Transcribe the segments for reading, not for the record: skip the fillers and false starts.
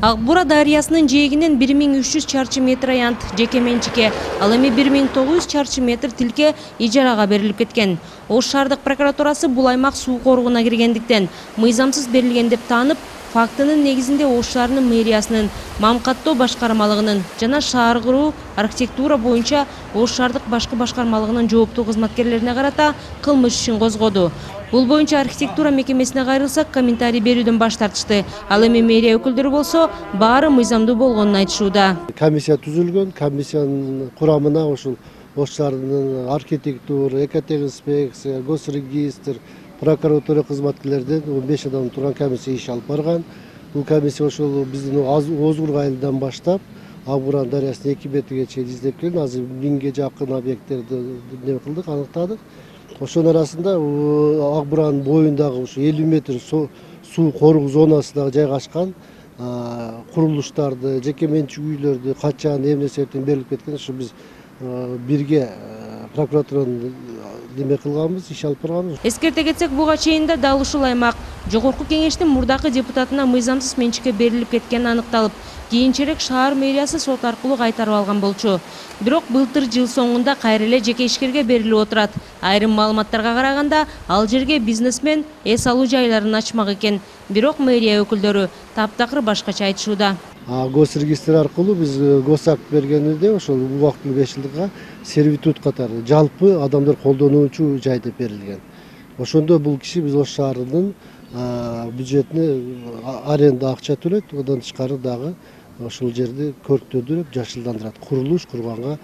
Ак Бура дарыясынын жээгинен 1300 чарчы метр аянт жеке менчикке, ал эми 1900 чарчы метр тилке ижарага берилип кеткен. Ош шаардык прокуратурасы бул аймак суу коругуна киргендиктен мыйзамсыз берилген деп таанып, фактынын негизинде Ош шаарынын мэриясынын, Мамкаттоо башкармалыгынын жана шаар куруу архитектура боюнча Ош шаардык башкы башкармалыгынын жооптуу кызматкерлерине карата кылмыш ишин козгоду. Бул боюнча архитектура мекемесине кайрылсак, комментарий берүүдөн баш тартышты. Ал эми мэрия өкүлдөрү болсо баары мыйзамдуу болгонун айтышууда. Комиссия түзүлгөн, комиссиянын курамына ушул Ош шаарынын архитектура, экотехинспекция, госрегистр, прокуратура кызматкерлеринен 15 адам турган комиссия иш алып барган. Бул комиссия ошол биздин Озгург айылынан баштап Ак Бура дарыясынын 2 метрге чейин издеп келген. Азыр 1000ге жакын объекттерди не кылдык, аныктадык. Ошонун арасында Ак Буранын боюндагы ушу 50 метр суу корук зонасында жайгашкан курулуштарды, жеке менчик үйлөрдү качан эмне себептен берилип кеткен, ушу биз бирге прокуратуранын неме кылганбыз, иш алып барганбыз. Эскерте кетсек, буга чейин да дал ушул аймак Жогорку кеңештин мурдакы депутатына мыйзамсыз менчикке берилип кеткени аныкталып, кийинчерээк шаар мэриясы сот аркылуу кайтарып алган болчу. Бирок былтыр жыл соңунда кайра эле жеке ишкерге берилип отурат. Айрым маалыматтарга караганда, ал жерге бизнесмен эс алуу жайларын ачмак экен. Бирок мэрия өкүлдөрү таптакыр башкача айтышууда. Госрегистр аркылуу биз госакт бергенде ошол убактылуу 5 жылга сервитут катары жалпы адамдар колдонуучу жай деп берилген. Ошондо бул киши биз Ош шаарынын бюджетине аренда акча төлөйт, одан тышкары дагы ошол жерди көрктөдүрүп, жашылдандырат. Курулуш курганга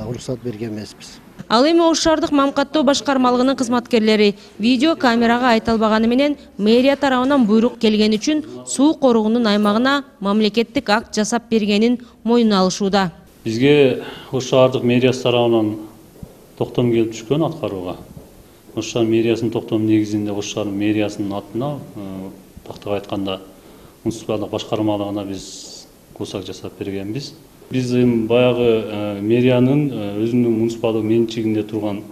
уруксат берген эмеспиз. Ал эми Ош шаардык Мамкаттоо башкармалыгынын кызматкерлери видео камерага айта албаганы менен мэрия тарабынан буйрук келген үчүн суу коругунун аймагына мамлекеттик акт жасап бергенин мойнуна алышууда. Бизге Ош шаардык мэриясы тарабынан токтом келип түшкөн аткарууга. Ош шаар мэриясынын токтому негизинде Ош шаар мэриясынын атына, тактап айтканда, муниципалдык башкармалыгына биз госак жасап бергенбиз. Биз баягы мэриянын өзүнүн муниципалдык менчигинде турган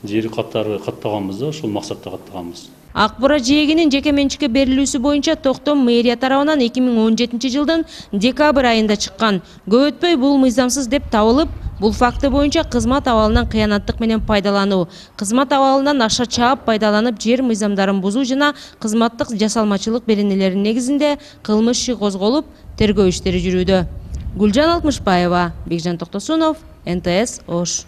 жери каттары каттаганбыз да, ошол максатта каттаганбыз. Ак Бура жээгинин жеке менчикке берилүүсү боюнча токтом мэрия тарабынан 2017 жылдын декабрь айында чыккан. Көп өтпөй бул мыйзамсыз деп табылып, бул факты боюнча кызмат абалынан кыянаттык менен пайдалануу, кызмат абалынан аша чаап пайдаланып жер мыйзамдарын бузуу жана кызматтык жасалмачылык беренелеринин негизинде кылмыш иши козголуп, тергөө иштери жүрүүдө. Гүлжан Алтмышбаева, Бекжан Токтосунов, НТС Ош.